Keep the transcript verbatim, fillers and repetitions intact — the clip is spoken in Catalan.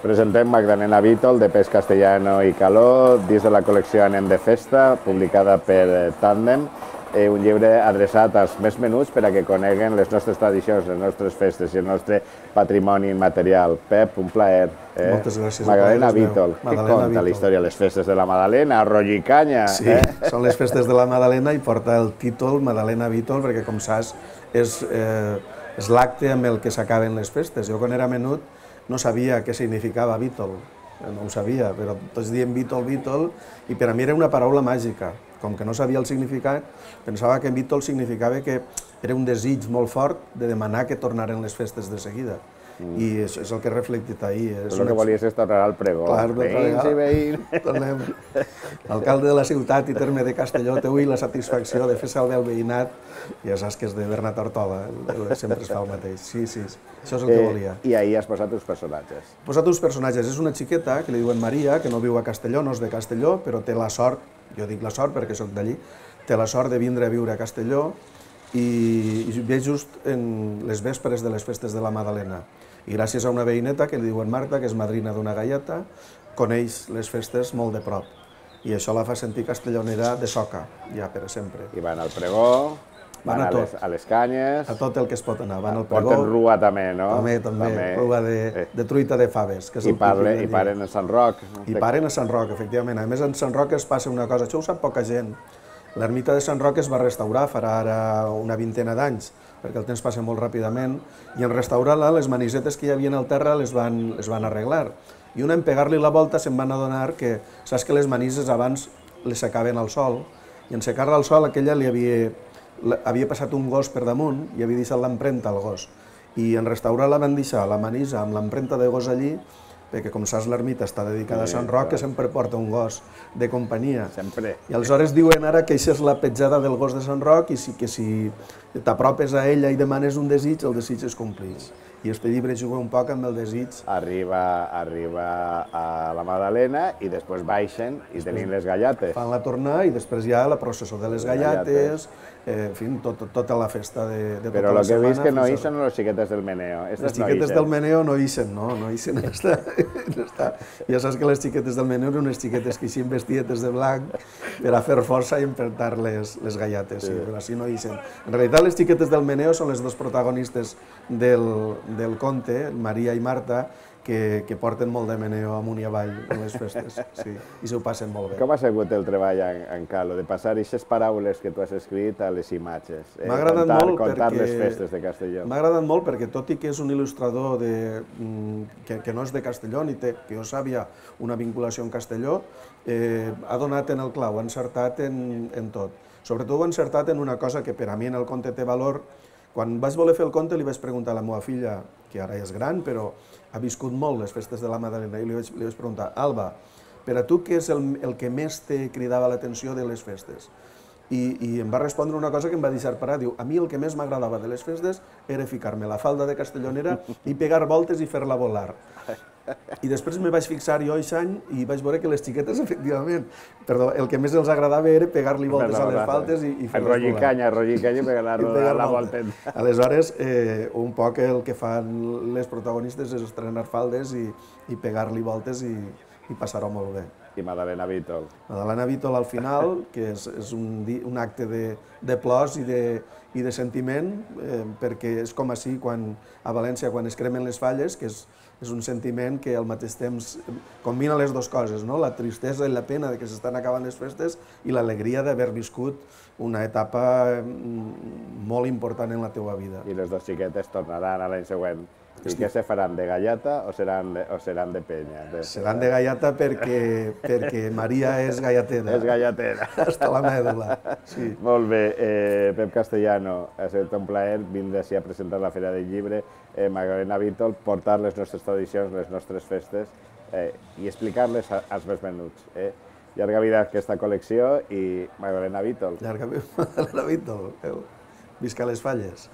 Presentem Magdalena Vítol, de Pes Castellano i Caló, dins de la col·lecció Anem de Festa, publicada per Tàndem, un llibre adreçat als més menuts per a que coneguen les nostres tradicions, les nostres festes i el nostre patrimoni immaterial. Pep, un plaer. Moltes gràcies. Magdalena Vítol, què conta la història? Les festes de la Magdalena, arròs i canya. Sí, són les festes de la Magdalena i porta el títol Magdalena Vítol perquè, com saps, és l'acte amb el que s'acaben les festes. Jo, quan era menut, no sabia què significava Vítol, no ho sabia, però tots diem Vítol, Vítol, i per a mi era una paraula màgica. Com que no sabia el significat, pensava que Vítol significava que era un desig molt fort de demanar que tornaren les festes de seguida. I és el que he reflectit ahir. El que volies és tornar al pregó. Veïns i veïns. Tornem. L'alcalde de la ciutat i terme de Castelló té avui la satisfacció de fer salvar el veïnat. Ja saps que és de Bernat Ortola, sempre es fa el mateix. Sí, sí, això és el que volia. I ahir has posat uns personatges. He posat uns personatges. És una xiqueta que li diuen Maria, que no viu a Castelló, no és de Castelló, però té la sort, jo dic la sort perquè soc d'allí, té la sort de vindre a viure a Castelló i ve just en les vespres de les festes de la Magdalena. I gràcies a una veïneta que li diuen Marta, que és madrina d'una galleta, coneix les festes molt de prop. I això la fa sentir castellonera de soca, ja per sempre. I van al pregó, van a les canyes... A tot el que es pot anar. Van al pregó... Porten rua també, no? També, també. Rua de truita de faves. I paren a Sant Roc. I paren a Sant Roc, efectivament. A més, en Sant Roc es passa una cosa, això ho sap poca gent. L'ermita de Sant Roc es va restaurar farà ara una vintena d'anys, perquè el temps passa molt ràpidament, i en restaurar-la, les manisetes que hi havia al terra les van, les van arreglar. I una, en pegar-li la volta, se'n van adonar que, saps que les manises abans les secaven al sol, i en secar-la al sol aquella li havia, havia passat un gos per damunt i havia deixat l'empremta al gos. I en restaurar-la van deixar la manisa amb l'empremta de gos allí, perquè, com saps, l'ermita està dedicada a Sant Roc, que sempre porta un gos de companyia. Sempre. I aleshores diuen ara que això és la petjada del gos de Sant Roc i que si t'apropes a ella i demanes un desig, el desig es complix. I este llibre juga un poc amb el desig. Arriba a la Magdalena i després baixen i tenim les galletes. Fan la tornada i després hi ha la processó de les galletes, en fi, tota la festa de tota la setmana. Però el que he vist que no hi són les xiquetes del meneo. Les xiquetes del meneo no hi són, no, no hi són. Ja saps que les xiquetes del meneo eren unes xiquetes que eixien vestietes de blanc per a fer força i empentar les galletes, però així no hi són. En realitat, les xiquetes del meneo són les dos protagonistes del conte, Maria i Marta, que porten molt de meneo amunt i avall en les festes, i s'ho passen molt bé. Com ha sigut el treball en Caló, de passar aquestes paraules que tu has escrit a les imatges? M'ha agradat molt contar les festes de Castelló. M'ha agradat molt perquè, tot i que és un il·lustrador que no és de Castelló, ni té, que jo sàpia, una vinculació amb Castelló, ha donat en el clau, ha encertat en tot. Sobretot ha encertat en una cosa que per a mi en el conte té valor. Quan vaig voler fer el conte li vaig preguntar a la meva filla, que ara és gran, però ha viscut molt les festes de la Magdalena, i li vaig preguntar, Alba, per a tu què és el que més te cridava l'atenció de les festes? I em va respondre una cosa que em va deixar parar, diu, a mi el que més m'agradava de les festes era ficar-me la falda de castellonera i pegar voltes i fer-la volar. I després me vaig fixar jo aquest any i vaig veure que les xiquetes, efectivament, perdó, el que més els agradava era pegar-li voltes a les faltes i fer-les volar. Arroll i canya, arroll i canya i pegar la volta. Aleshores, un poc el que fan les protagonistes és estrenar faldes i pegar-li voltes i passar-ho molt bé. I Magdalena Vítol. Magdalena Vítol al final, que és un acte de plors i de sentiment, perquè és com així a València, quan es cremen les falles, que és un sentiment que al mateix temps combina les dues coses, la tristesa i la pena que s'estan acabant les festes i l'alegria d'haver viscut una etapa molt important en la teva vida. I les dues xiquetes tornaran a l'any següent. I què se faran, de galleta o seran de penya? Seran de galleta perquè Maria és galletera. És galletera. Hasta la mèdula. Molt bé. Pep Castellano, ha estat un plaer vindre així a presentar la Fira del Llibre. Magdalena Vítol, portar les nostres tradicions, les nostres festes i explicar-les als més menuts. Llarga vida a aquesta col·lecció i Magdalena Vítol. Llarga vida, Magdalena Vítol. Visca les falles.